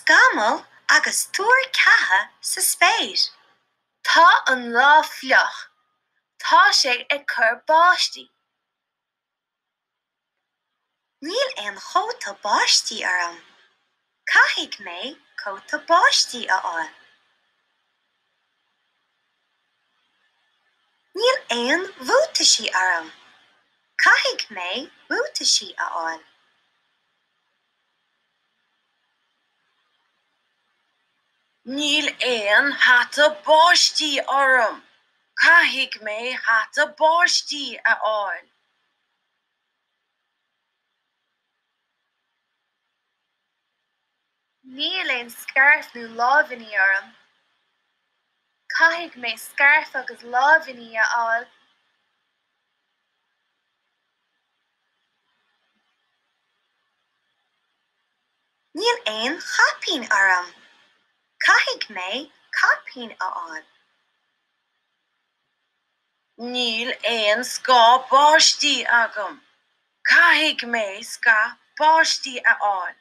Scamaill agus tuar ceatha sa spéir. Tá an lá fliuch. Tá sé ag cur báistí. Níl aon chóta báistí orm. Caithfidh mé cóta báistí a fháil. Níl aon bhuataisí orm. Caithfidh mé buataisí a fháil. Níl aon hata báistí orm. Caithfidh mé hata báistí a fháil. Níl aon scairf nó láimhíní orm. Caithfidh mé scairf agus láimhíní a fháil. Níl aon chaipín orm. Caithfidh mé caipín a fháil. Níl aon scáth báistí agam. Caithfidh mé scáth báistí a fháil.